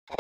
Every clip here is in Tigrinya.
ካብ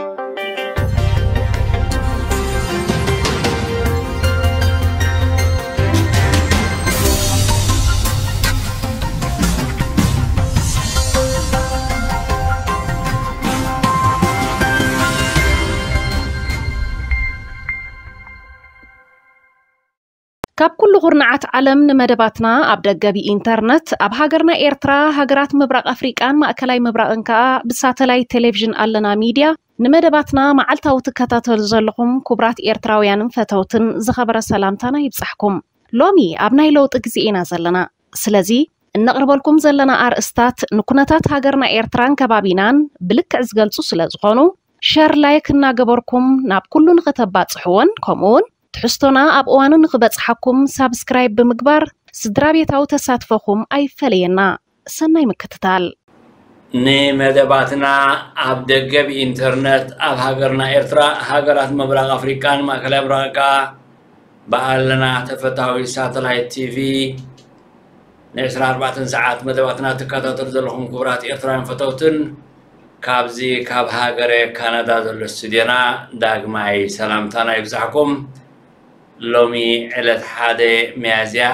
ኩሉ ኩርናዓት ዓለም ንመደባትና ኣብ ደገ ብኢንተርነት፣ ኣብ ሃገርና ኤርትራ፣ ሃገራት ምብራቕ ኣፍሪቃን ማእከላይ ምብራቕን ከኣ ብሳተላይት ቴሌቪዥን ኣለና ሚድያ ንመደባትና መዓልታዊ ትከታተሉ ዘለኹም ክቡራት ኤርትራውያንን ፈተውትን ዝኸበረ ሰላምታና ይብጻሕኩም። ሎሚ ኣብ ናይ ለውጢ ግዜ ኢና ዘለና። ስለዚ እነቕርበልኩም ዘለና ኣርእስታት ንኩነታት ሃገርና ኤርትራን ከባቢናን ብልክዕ ዝገልጹ ስለ ዝኾኑ፣ ሸር ላይክ እናገበርኩም ናብ ኩሉ ንኸተባጽሕዎን ከምኡውን ትሕዝቶና ኣብ እዋኑ ንኽበጽሓኩም ሳብስክራይብ ብምግባር ስድራ ቤታዊ ተሳትፎኹም ኣይፈለየና። ሰናይ ምክትታል። ንመደባትና ኣብ ደገ ብኢንተርነት ኣብ ሃገርና ኤርትራ፣ ሃገራት ምብራቕ ኣፍሪቃን ማእከላይ ምብራቕ ከኣ ብኣለና ተፈታዊ ሳተላይት ቲቪ ን24 ሰዓት መደባትና ትከታተሉ ዘለኹም ክቡራት ኤርትራውያን ፈተውትን፣ ካብዚ ካብ ሃገረ ካናዳ ዘሎ ስቱድዮና ዳግማይ ሰላምታና ይብጻሕኩም። ሎሚ ዕለት ሓደ ሚያዝያ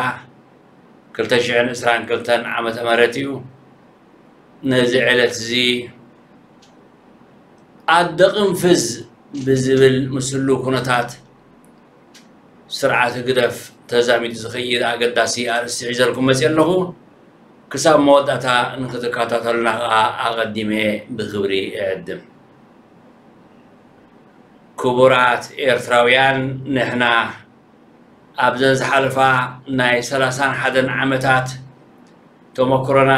ክልተ ሽሕን ዕስራን ክልተን ዓመተ ምህረት እዩ። ነዚ ዕለት እዚ ኣደ ቅንፍዝ ብዝብል ምስሉ ኩነታት ስርዓት ህግደፍ ተዛሚዱ ዝኸይድ ኣገዳሲ ኣርእስቲ ሒዘልኩም መፅእ ኣለኹ። ክሳብ መወዳእታ ንክትከታተሉና ከዓ ኣቐዲመ ብክብሪ እዕድም። ክቡራት ኤርትራውያን፣ ንሕና ኣብዘን ዝሓለፋ ናይ ሰላሳን ሓደን ዓመታት ተመክሮና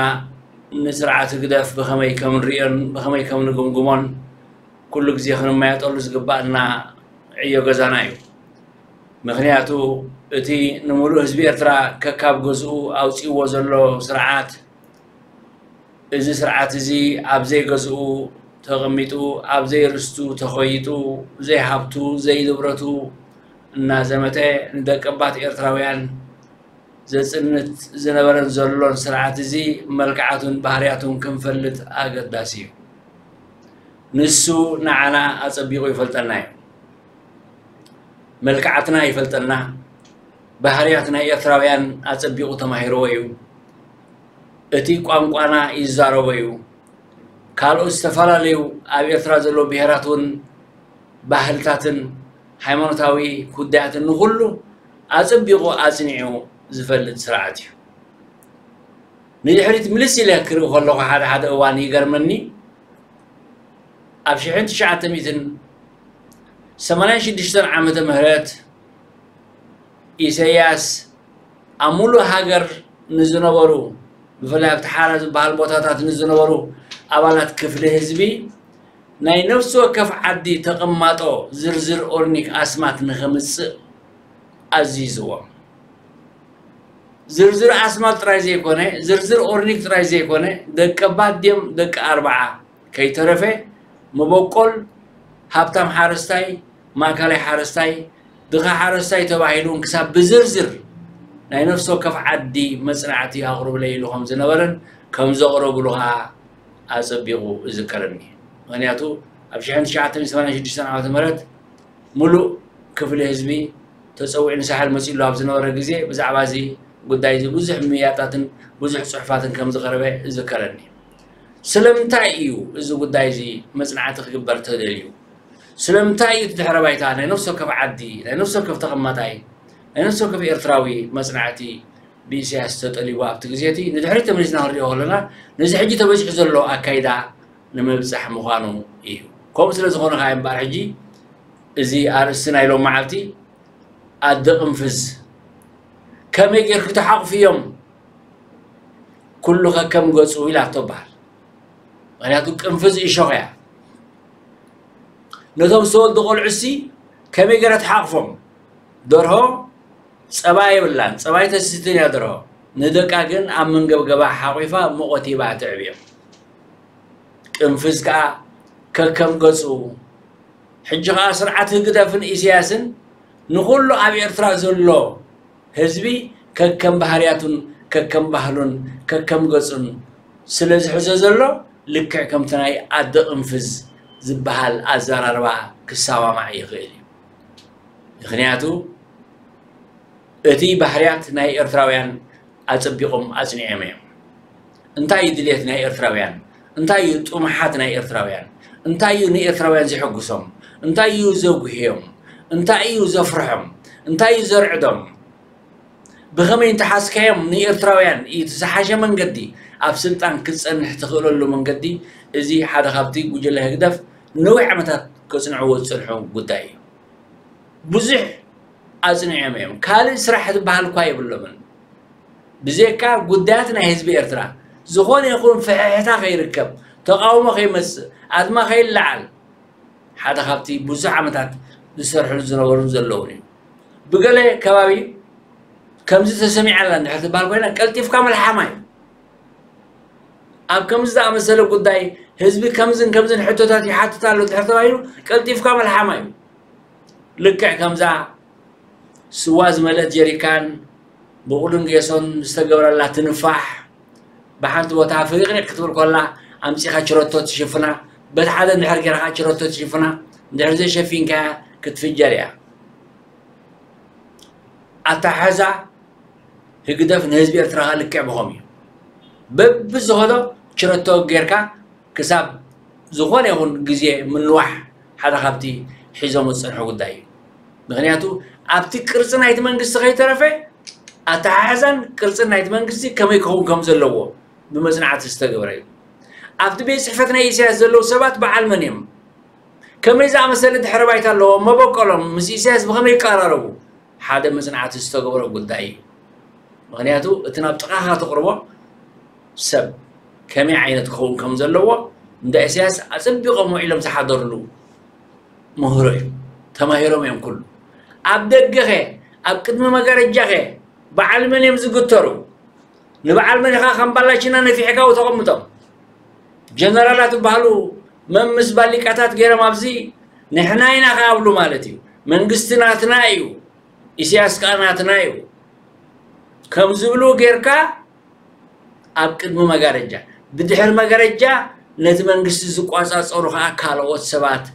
ንስርዓት ህግደፍ ብኸመይ ከም ንርእዮን ብኸመይ ከም ንግምግሞን ኩሉ ግዜ ክንመያጠሉ ዝግባኣና ዕዮ ገዛና እዩ። ምኽንያቱ እቲ ንምሉእ ህዝቢ ኤርትራ ከካብ ገዝኡ ኣውጺእዎ ዘሎ ስርዓት፣ እዚ ስርዓት እዚ ኣብ ዘይገዝኡ ተቐሚጡ፣ ኣብ ዘይርስቱ ተኾይጡ፣ ዘይሃብቱ ዘይንብረቱ እናዘመተ ንደቀባት ኤርትራውያን ዘጽንት ዝነበረን ዘሎን ስርዓት እዚ መልክዓቱን ባህርያቱን ክንፈልጥ ኣገዳሲ እዩ። ንሱ ንዓና ኣጸቢቑ ይፈልጠና እዩ። መልክዓትና ይፈልጠና፣ ባህርያት ናይ ኤርትራውያን ኣጸቢቑ ተማሂርዎ እዩ። እቲ ቋንቋና ይዛረቦ እዩ። ካልኦት ዝተፈላለዩ ኣብ ኤርትራ ዘለዉ ብሄራት እውን ባህልታትን ሃይማኖታዊ ጉዳያትን ንኹሉ ኣጸቢቑ ኣጽኒዑ ዝፈልጥ ስርዓት እዩ። ንድሕሪት ምልስ ኢለ ክርኢ ከለኹ ሓደ ሓደ እዋን ይገርመኒ። ኣብ ሽሕን ትሽዓተ ሚእትን ሰማንያን ሽዱሽተን ዓመተ ምህረት ኢሰያስ ኣብ ሙሉእ ሃገር ንዝነበሩ፣ ብፍላይ ኣብቲ ሓራ ዝበሃል ቦታታት ንዝነበሩ ኣባላት ክፍሊ ህዝቢ ናይ ነፍሲ ወከፍ ዓዲ ተቐማጦ ዝርዝር ኦርኒክ ኣስማት ንኸምጽእ ኣዚዝዎም። ዝርዝር ኣስማት ጥራይ ዘይኮነ፣ ዝርዝር ኦርኒክ ጥራይ ዘይኮነ፣ ደቂ ባት ድዮም ደቂ ኣርብዓ ከይተረፈ መበቆል፣ ሃብታም ሓረስታይ፣ ማእከላይ ሓረስታይ፣ ድኻ ሓረስታይ ተባሂሉ እውን ክሳብ ብዝርዝር ናይ ነፍሲ ወከፍ ዓዲ መጽናዕቲ ኣቕርብለይ ኢሉ ከም ዝነበረን ከም ዘቕረብሉ ኸዓ ኣጸቢቑ እዝከረኒ። ምኽንያቱ ኣብ ሽሕን ትሽዓተ ሚእትን ሰማንያን ሽዱሽተን ዓመተ ምህረት ሙሉእ ክፍሊ ህዝቢ ተጸዊዑ ንሳሕል መጺሉ ኣብ ዝነበረ ግዜ ብዛዕባ እዚ ጉዳይ እዚ ብዙሕ ምያጣትን ብዙሕ ጽሑፋትን ከም ዝቐረበ እዝከረኒ። ስለምንታይ እዩ እዚ ጉዳይ እዚ መጽናዕቲ ክግበር ተደልዩ? ስለምንታይ እዩ እቲ ድሕረ ባይታ ናይ ነፍሲ ወከፍ ዓዲ፣ ናይ ነፍሲ ወከፍ ተቐማጣይ፣ ናይ ነፍሲ ወከፍ ኤርትራዊ መጽናዕቲ ብኢሳያስ ተጠሊቡ ኣብቲ ግዜ እቲ ንድሕሪት ተመሊስና ክንሪኦ ከለና ነዚ ሕጂ ተበጺሑ ዘሎ ኣካይዳ ንምብጻሕ ምዃኑ እዩ። ከምኡ ስለ ዝኾነ ከኣ እምበኣር ሕጂ እዚ ኣርእስቲ ናይ ሎም መዓልቲ ኣደ ቅንፍዝ ከመይ ጌርኪ ተሓቑፍዮም ኩሉ ከከም ገጹ ኢላቶ በሃል። ምኽንያቱ ቅንፍዝ እሾኽ እያ። ነቶም ዝተወልዱ ቆልዑሲ ከመይ ገይራ ትሓቕፎም? ደርሆ ጸባ የብላን፣ ጸባ ኣይተስትይን እያ ደርሆ። ንደቃ ግን ኣብ መንገብገባ ሓቑፋ ሙቐት ሂባ ተዕብዮም። ቅንፍዝ ከኣ ከከም ገጹ። ሕጂ ከኣ ስርዓት ህግደፍን ኢሳያስን ንኹሉ ኣብ ኤርትራ ዘሎ ህዝቢ ከከም ባህርያቱን ከከም ባህሉን ከከም ገጹን ስለ ዝሕዞ ዘሎ፣ ልክዕ ከምቲ ናይ ኣደ ቅንፍዝ ዝበሃል ኣዘራርባ ክሰማማዕ ይኽእል እዩ። ምኽንያቱ እቲ ባህርያት ናይ ኤርትራውያን ኣጸቢቖም ኣጽኒዖም እዮም። እንታይ እዩ ድልየት ናይ ኤርትራውያን? እንታይ እዩ ጥሙሓት ናይ ኤርትራውያን? እንታይ እዩ ንኤርትራውያን ዘሐጉሶም? እንታይ እዩ ዘጉህዮም? እንታይ እዩ ዘፍርሖም? እንታይ እዩ ዘርዕዶም? ብኸመይ እንተሓዝካዮም ንኤርትራውያን እቲ ዝሓሸ መንገዲ ኣብ ስልጣን ክትጸንሕ ትኽእለሉ መንገዲ፣ እዚ ሓደ ካብቲ ጉጅለ ህግደፍ ነዊሕ ዓመታት ከጽንዕዎ ዝጸንሑ ጉዳይ እዩ። ብዙሕ ኣጽኒዖም እዮም። ካልእ ስራሕ ዝበሃል እኳ የብሎምን። ብዘይካ ጉዳያት ናይ ህዝቢ ኤርትራ ዝኾነ ይኹን ፍሕሕታ ከይርከብ፣ ተቓውሞ ከይመጽእ፣ ኣድማ ከይለዓል ሓደ ካብቲ ብዙሕ ዓመታት ዝሰርሕሉ ዝነበሩን ዘለውን እዩ። ብገለ ከባቢ ከምዚ ተሰሚዓላ እንድሕር ትበሃል ኮይና ቀልጢፍካ መልሓማ እዩ። ኣብ ከምዚ ዝኣመሰለ ጉዳይ ህዝቢ ከምዝን ከምዝን ሕቶታት ይሓትት ኣሎ እንድሕር ተባሂሉ ቀልጢፍካ መልሓማ እዩ። ልክዕ ከምዛ ስዋ ዝመልአት ጀሪካን ብቑልን ጌሶን ዝተገብረላ ትንፋሕ ብሓንቲ ቦታ ፍሪቕሪቕ ክትብል ኮላ ኣምጺኻ ችረቶ ትሽፍና፣ በቲ ሓደ እንድሕር ጌርካ ችረቶ ትሽፍና፣ እንድሕር ዘይሸፊንካያ ክትፍጀር እያ። ኣተሓሕዛ ህግደፍ ንህዝቢ ኤርትራ ከኣ ልክዕ ብኸም እዩ። በብዝኸዶ ችረቶ ጌርካ ክሳብ ዝኾነ ይኹን ግዜ ምንዋሕ ሓደ ካብቲ ሒዞም ዝጸንሑ ጉዳይ እዩ። ምኽንያቱ ኣብቲ ቅርጺ ናይቲ መንግስቲ ከይተረፈ ኣተሓሕዛን ቅርጽን ናይቲ መንግስቲ ከመይ ክኸውን ከም ዘለዎ ብመጽናዕቲ ዝተገብረ እዩ። ኣብቲ ቤት ጽሕፈት ናይ ኢሳያስ ዘለዉ ሰባት በዓል መን እዮም? ከመይ ዝኣመሰለ ድሕረ ባይታ ኣለዎም? መበቆሎም ምስ ኢሳያስ ብኸመይ ይቀራረቡ? ሓደ መጽናዕቲ ዝተገብረ ጉዳይ እዩ። ምኽንያቱ እቲ ናብ ጥቓኻ ተቕርቦ ሰብ ከመይ ዓይነት ክኸውን ከም ዘለዎ እንዳ ኢሳያስ ኣጸቢቖም ውዒሎም ዝሓደርሉ ምህሮ እዩ። ተማሂሮም እዮም ኩሉ። ኣብ ደገኸ ኣብ ቅድሚ መጋረጃኸ በዓል መን እዮም ዝግተሩ? ንበዓል መን ኢኻ ከም ባላችና ነፊሕካ ተቐምጦም? ጀነራላት ዝበሃሉ መምስ ባሊቃታት ገይሮም ኣብዚ ንሕና ኢና ክኣብሉ ማለት እዩ። መንግስቲ ናትና እዩ፣ ኢሳያስ ከኣ ናትና እዩ ከም ዝብሉ ጌርካ ኣብ ቅድሚ መጋረጃ፣ ብድሕሪ መጋረጃ ነቲ መንግስቲ ዝቋጻጸሩ ከኣ ካልኦት ሰባት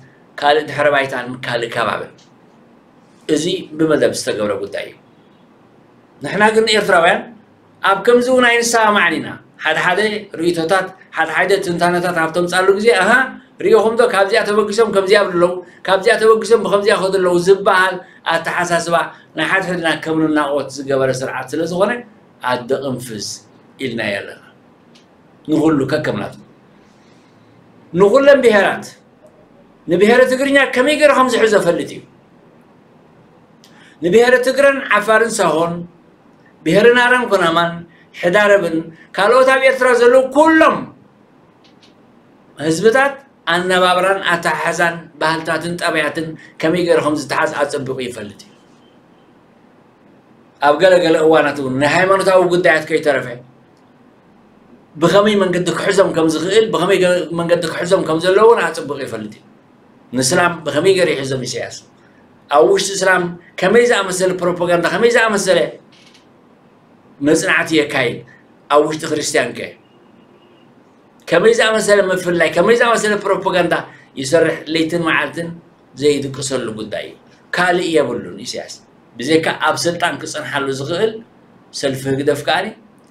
ካልእ ድሕረ ባይታን ካልእ ከባብን። እዚ ብመደብ ዝተገብረ ጉዳይ እዩ። ንሕና ግን ኤርትራውያን ኣብ ከምዚ እውን ኣይንሰማማዕን ኢና። ሓደ ሓደ ርእይቶታት፣ ሓደ ሓደ ትንታነታት ኣብ ተምጻሉ ግዜ ኣሃ ሪኢኹም ዶ ካብዚኣ ተበጊሶም ከምዚኣ ይብሉ ኣለዉ፣ ካብዚኣ ተበጊሶም ብከምዚኣ ይኸዱ ኣለዉ ዝበሃል ኣተሓሳስባ ናይ ሓድሕድና ከም ንናቖት ዝገበረ ስርዓት ስለ ዝኾነ ኣደ ቅንፍዝ ኢልናዮ ኣለና። ንኹሉ ከከምናቱ ንኹለን ብሄራት ንብሄረ ትግርኛ ከመይ ገይሩ ከም ዝሕዞ ፈልጥ እዩ። ንብሄረ ትግረን ዓፋርን ሳሆን ብሄረ ናራን ኩናማን ሕዳረብን ካልኦት ኣብ ኤርትራ ዘለዉ ኩሎም ህዝብታት ኣነባብራን ኣተሓሕዛን ባህልታትን ጠባያትን ከመይ ገይሩ ከም ዝተሓዝ ኣጸቢቑ ይፈልጥ እዩ። ኣብ ገለ ገለ እዋናት እውን ናይ ሃይማኖታዊ ጉዳያት ከይተረፈ ብኸመይ መንገዲ ክሕዞም ከም ዝኽእል ብኸመይ ገ- መንገዲ ክሕዞም ከም ዘለዎን ኣጽብቕ ይፈልጥ እዩ። ንስላም ብኸመይ ገይሩ ይሕዞም ኢሳያስ? ኣብ ውሽጢ እስላም ከመይ ዝኣመሰለ ፕሮፓጋንዳ ከመይ ዝኣመሰለ መጽናዕቲ የካይድ? ኣብ ውሽጢ ክርስትያን ከ ከመይ ዝኣመሰለ ምፍልላይ ከመይ ዝኣመሰለ ፕሮፓጋንዳ ይሰርሕ? ለይትን መዓልትን ዘይድቅሰሉ ጉዳይ እዩ። ካልእ የብሉን ኢሳያስ ብዘይካ ኣብ ስልጣን ክጸንሓሉ ዝኽእል ሰልፊ ህግደፍ ከኣ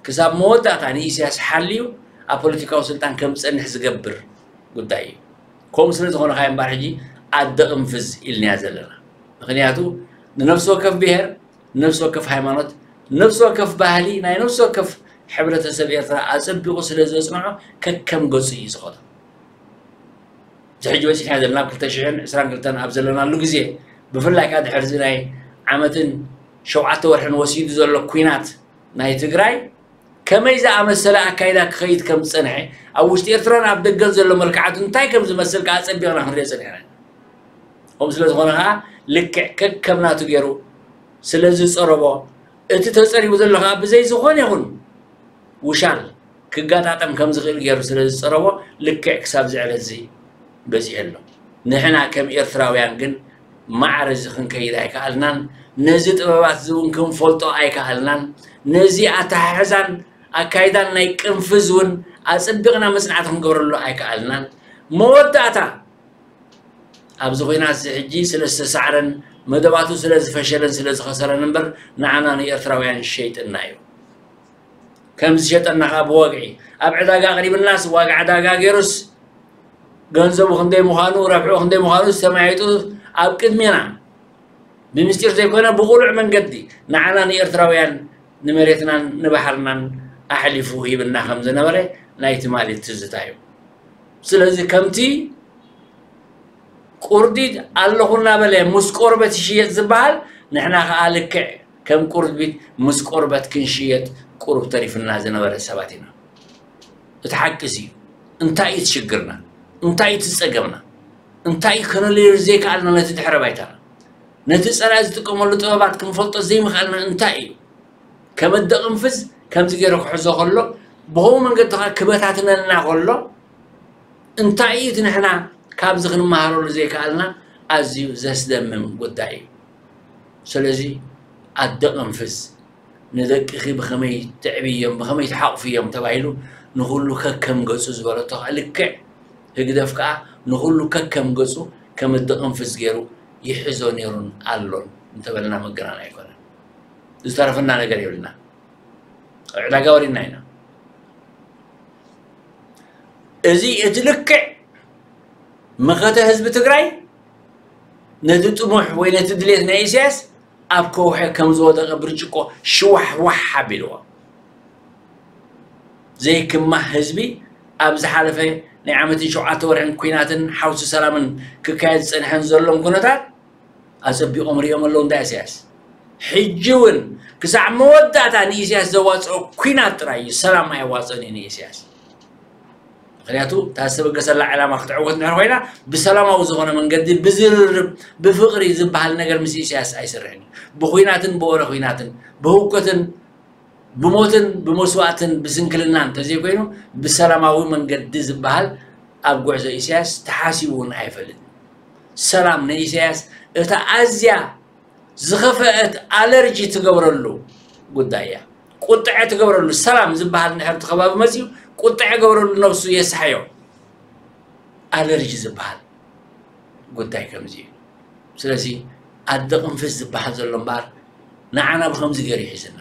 ክሳብ መወዳእታ ንኢሳያስ ሓልዩ ኣብ ፖለቲካዊ ስልጣን ከም ዝጸንሕ ዝገብር ጉዳይ እዩ። ከምኡ ስለ ዝኾነ ከኣ እምበኣር ሕጂ ኣደ ቅንፍዝ ኢልናያ ዘለና። ምኽንያቱ ንነፍሲ ወከፍ ብሄር፣ ንነፍሲ ወከፍ ሃይማኖት፣ ንነፍሲ ወከፍ ባህሊ ናይ ነፍሲ ወከፍ ሕብረተሰብ ኤርትራ ኣጸቢቑ ስለ ዘጽንዖ ከከም ገጹ እዩ ዝኸዶ። እዚ ሕጂ በጺሕና ዘለና ኣብ ክልተ ሽሕን ዕስራን ክልተን ኣብ ዘለናሉ ግዜ ብፍላይ ከኣ ድሕሪ እዚ ናይ ዓመትን ሸውዓተ ወርሕን ወሲዱ ዘሎ ኲናት ናይ ትግራይ ከመይ ዝኣመሰለ ኣካይዳ ክኸይድ ከም ዝጸንሐ ኣብ ውሽጢ ኤርትራን ኣብ ደገን ዘሎ መልክዓቱ እንታይ ከም ዝመስል ከኣ ኣጸቢቕና ክንሪኦ ጸኒሕና ኢና። ከምኡ ስለ ዝኾነ ከኣ ልክዕ ከከም ናቱ ገይሩ ስለ ዝጸረቦ እቲ ተጸሪቡ ዘሎ ከኣ ብዘይ ዝኾነ ይኹን ውሻል ክጋጣጠም ከም ዝኽእል ገይሩ ስለ ዝጸረቦ ልክዕ ክሳብ ዝዕለት እዚ በጺሑ ኣሎ። ንሕና ከም ኤርትራውያን ግን ማዕረ እዚ ክንከይድ ኣይከኣልናን። ነዚ ጥበባት እዚ እውን ክንፈልጦ ኣይከኣልናን። ነዚ ኣተሓሕዛን ኣካይዳን ናይ ቅንፍዝ እውን ኣጸቢቕና መጽናዕቲ ክንገብረሉ ኣይከኣልናን። መወዳእታ ኣብዚ ኹናት እዚ ሕጂ ስለ ዝተሳዕረን መደባቱ ስለ ዝፈሸለን ስለ ዝኸሰረን እምበር ንዓና ንኤርትራውያን ሸይጥና እዩ። ከም ዝሸጠና ኸኣ ብወግዒ ኣብ ዕዳጋ ኣቕሪብናስ ዋጋ ዕዳጋ ገይሩስ ገንዘቡ ክንደይ ምዃኑ ረብሑ ክንደይ ምዃኑ ዝተመያይጡ ኣብ ቅድሜና ብምስጢር ዘይኮነ ብቑሉዕ መንገዲ ንዓና ንኤርትራውያን ንመሬትናን ንባሕርናን ኣሕሊፉ ሂብና ከም ዝነበረ ናይ ትማሊ ትዝታ እዩ። ስለዚ ከምቲ ቁርዲድ ኣለኹ እናበለ ምስ ቆርበት ይሽየጥ ዝበሃል ንሕና ኸዓ ልክዕ ከም ቁርቢት ምስ ቆርበት ክንሽየጥ ቁሩብ ተሪፍና ዝነበረ ሰባት ኢና። እቲ ሓቂ እዚ እዩ። እንታይ እዩ እቲ ሽግርና? እንታይ እዩ እቲ ጸገምና? እንታይ እዩ ከነለዮ ዘይከኣልና ነቲ ድሕረ ባይታና? ነቲ ጸላኢ ዝጥቀመሉ ጥበባት ክንፈልጦ ዘይምኽኣልና እንታይ እዩ? ከመ ደቕንፍዝ ከምዚ ገይሩ ክሕዞ ከሎ ብኸምኡ መንገዲ ከዓ ክበታትነልና ከሎ እንታይ እዩ እቲ ንሕና ካብዚ ክንመሃረሉ ዘይከኣልና ኣዝዩ ዘስደምም ጉዳይ እዩ። ስለዚ ኣደቕንፍዝ ንደቅኺ ብኸመይ ትዕብዮም ብኸመይ ትሓቑፍዮም ተባሂሉ ንኹሉ ከከም ገጹ ዝበለቶ ከዓ ልክዕ ህግደፍ ከዓ ንኹሉ ከከም ገጹ ከም ኣደቕንፍዝ ገይሩ ይሕዞ ነይሩን ኣሎን እንተበልና መገናን ኣይኮነን። ዝተረፈና ነገር የብልና። ዕዳጋ ወሪድና ኢና። እዚ እቲ ልክዕ መኸተ ህዝቢ ትግራይ ነቲ ጥሙሕ ወይ ነቲ ድሌት ናይ ኢሳያስ ኣብ ከውሒ ከም ዝወደቐ ብርጭቆ ሽዋሕዋሕ ኣቢልዎ። ዘይክማህ ህዝቢ ኣብ ዝሓለፈ ናይ ዓመትን ሸውዓተ ወርሕን ኲናትን ሓውሲ ሰላምን ክካየድ ዝጸንሐን ዘሎን ኩነታት ኣጸቢቖም ሪኦም ኣለዉ እንዳ ኢሳያስ። ሕጂ እውን ክሳዕ መወዳእታ ንኢሳያስ ዘዋፅኦ ኲናት ጥራይ እዩ፣ ሰላም ኣየዋፅኦን እዩ ንኢሳያስ። ምክንያቱ እታ ዝተበገሰላ ዕላማ ክትዕወት እንድሕር ኮይና ብሰላማዊ ዝኾነ መንገዲ ብዝርርብ ብፍቕሪ ዝበሃል ነገር ምስ ኢሳያስ ኣይስርሕን እዩ። ብኹናትን ብወረ ኹናትን ብህውከትን ብሞትን ብመስዋእትን ብስንክልናን እንተዘይኮይኑ ብሰላማዊ መንገዲ ዝበሃል ኣብ ጉዕዞ ኢሳያስ ተሓሲቡ እውን ኣይፈልጥን። ሰላም ንኢሳያስ እታ ኣዝያ ዝኸፈአት ኣለርጂ ትገብረሉ ጉዳይ እያ። ቁጥዐ ትገብረሉ ሰላም ዝበሃል እንድሕር እቲ ከባቢ መፅዩ ቁጥዐ ገብረሉ ነብሱ የስሓዮ። ኣለርጂ ዝበሃል ጉዳይ ከምዚ እዩ። ስለዚ ኣደ ቅንፍዝ ዝበሃል ዘሎ እምበኣር ንዓና ብኸምዚ ገይሩ ይሒዝና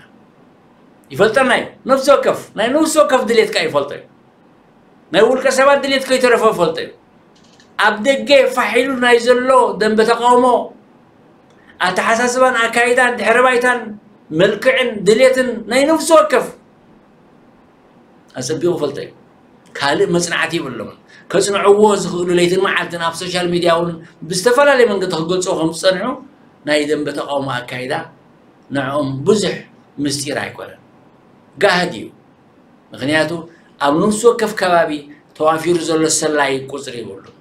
ይፈልጠና እዩ። ነፍሲ ወከፍ ናይ ነፍሲ ወከፍ ድሌት ከኣ ይፈልጦ እዩ። ናይ ውልቀ ሰባት ድሌት ከይተረፈ ይፈልጦ እዩ። ኣብ ደገ ፋሕ ኢሉ ናይ ዘሎ ደንበ ተቃውሞ ኣተሓሳስባን ኣካይዳን ድሕረ ባይታን መልክዕን ድሌትን ናይ ነፍሲ ወከፍ ኣጸቢቑ ይፈልጦ እዩ። ካልእ መጽናዕቲ የብሎምን። ከጽንዕዎ ዝኽእሉ ለይትን መዓልትን ኣብ ሶሻል ሚድያ እውን ብዝተፈላለየ መንገዲ ክገልጽዎ ከም ዝጸንሑ ናይ ደንበ ተቃውሞ ኣካይዳ ንዕኦም ብዙሕ ምስጢር ኣይኮነን። ጋህዲ እዩ። ምኽንያቱ ኣብ ነፍሲ ወከፍ ከባቢ ተዋፊሩ ዘሎ ሰላይ ቁጽሪ የብሉን።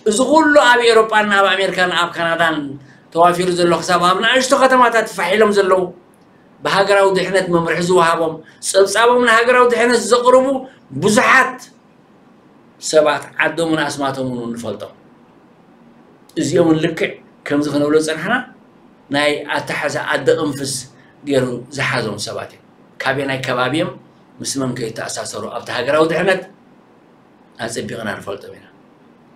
እዚ ኩሉ ኣብ ኤውሮጳን ኣብ ኣሜሪካን ኣብ ካናዳን ተዋፊሩ ዘሎ ክሳብ ኣብ ንኣሽቱ ከተማታት ፋሕ ኢሎም ዘለዉ ብሃገራዊ ድሕነት መምርሒ ዝወሃቦም ጸብጻቦም ንሃገራዊ ድሕነት ዘቕርቡ ብዙሓት ሰባት ዓዶምን ኣስማቶምን እውን ንፈልጦም። እዚኦምን ልክዕ ከምዚ ክነብሎ ዝጸናሕና ናይ ኣተሓዛ ኣደ ቅንፍዝ ገይሩ ዝሓዞም ሰባት እዮም። ካበየናይ ከባቢ እዮም ምስ መን ከይተኣሳሰሩ ኣብቲ ሃገራዊ ድሕነት ኣጸቢቕና ንፈልጦም ኢና።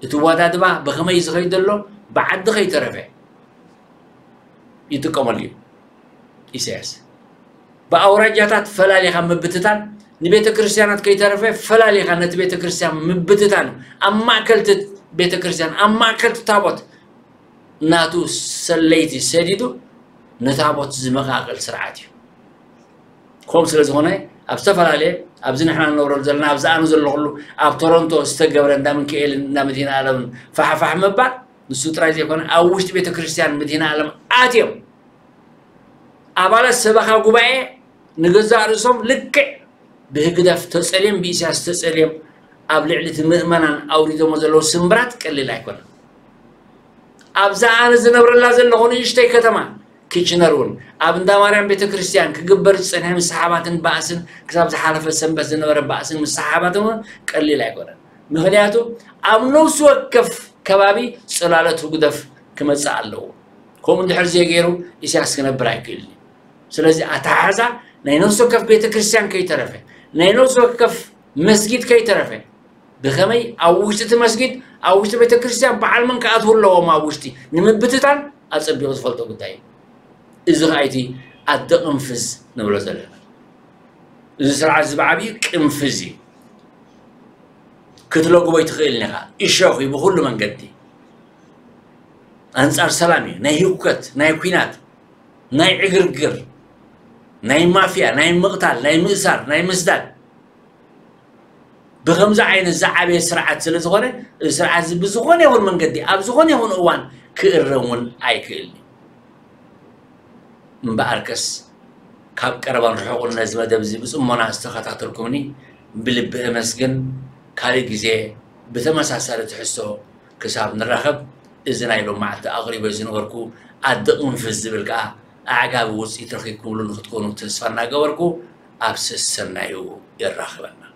እቲ ዋዳድባ ብኸመይ እዩ ዝኸይድ ዘሎ ብዓዲ ከይተረፈ ይጥቀመሉ እዩ ኢሳያስ። ብኣውራጃታት ፈላሊኻ ምብትታን ንቤተ ክርስቲያናት ከይተረፈ ፈላሊኻ ነቲ ቤተ ክርስቲያን ምብትታን ኣብ ማእከል እቲ ቤተ ክርስቲያን ኣብ ማእከል እቲ ታቦት ናቱ ሰለይቲ ሰዲዱ ንታቦት ዝመቓቕል ስርዓት እዩ። ከምኡ ስለ ዝኾነ ኣብ ዝተፈላለየ ኣብዚ ንሕና ንነብረሉ ዘለና ኣብዚ ኣነ ዘለኹሉ ኣብ ቶሮንቶ ዝተገብረ እንዳ ምንክኤልን እንዳ መድህን ኣለምን ፋሕፋሕ ምባል ንሱ ጥራይ ዘይኮነ ኣብ ውሽጢ ቤተ ክርስቲያን መድህን ኣለም ኣትዮም ኣባላት ሰበኻ ጉባኤ ንገዛእ ርእሶም ልክዕ ብህግደፍ ተጸልዮም ብኢሳያስ ተጸልዮም ኣብ ልዕሊ እቲ ምእመናን ኣውሪዶሞ ዘለዉ ስምብራት ቀሊል ኣይኮነን። ኣብዛ ኣነ ዝነብረላ ዘለኹ ንእሽተይ ከተማ ኪችነር እውን ኣብ እንዳ ማርያም ቤተ ክርስቲያን ክግበር ዝጸንሐ ምስሓባትን ባእስን ክሳብ ዝሓለፈ ሰንበት ዝነበረ ባእስን ምስሓባትን እውን ቀሊል ኣይኮነን። ምኽንያቱ ኣብ ነፍሲ ወከፍ ከባቢ ጽላሎት ህግደፍ ክመጽእ ኣለዎ። ከምኡ እንድሕር ዘይገይሩ ኢሳያስ ክነብር ኣይክእልን እዩ። ስለዚ ኣተሓሕዛ ናይ ነፍሲ ወከፍ ቤተ ክርስቲያን ከይተረፈ ናይ ነፍሲ ወከፍ መስጊድ ከይተረፈ ብኸመይ ኣብ ውሽጢ እቲ መስጊድ ኣብ ውሽጢ ቤተክርስትያን በዓል መን ክኣትዉ ኣለዎም ኣብ ውሽጢ ንምብትታን ኣጸቢቑ ዝፈልጦ ጉዳይ እዩ። እዚ ኸኣ እቲ ኣደ ቅንፍዝ ንብሎ ዘለና። እዚ ስርዓት እዚ ብዓብዩ ቅንፍዝ እዩ። ክትለጉቦ ኣይትኽእልን ኢኻ። እሾኽ እዩ ብኹሉ መንገዲ። ኣንጻር ሰላም እዩ። ናይ ህውከት፣ ናይ ኲናት፣ ናይ ዕግርግር፣ ናይ ማፍያ፣ ናይ ምቕታል፣ ናይ ምእሳር፣ ናይ ምስዳድ፣ ብኸምዚ ዓይነት ዝዓበየ ስርዓት ስለ ዝኾነ፣ እዚ ስርዓት እዚ ብዝኾነ ይኹን መንገዲ፣ ኣብ ዝኾነ ይኹን እዋን ክእረም እውን ኣይክእልን እዩ። እምበኣርከስ፣ ካብ ቀረባን ርሑቕን ነዚ መደብ እዚ ብጽሞና ዝተኸታተልኩምኒ ብልቢ እመስግን። ካልእ ግዜ ብተመሳሳሊ ትሕዝቶ ክሳብ ንራኸብ፣ እዚ ናይ ሎም መዓልቲ ኣቕሪበ ዝነበርኩ ኣደ ቅንፍዝ ዝብል ከኣ ኣዕጋቢ ውጽኢት ረኺብኩምሉ ንኽትኮኑ ተስፋ እናገበርኩ፣ ኣብ ሰሰናዩ የራኽበና።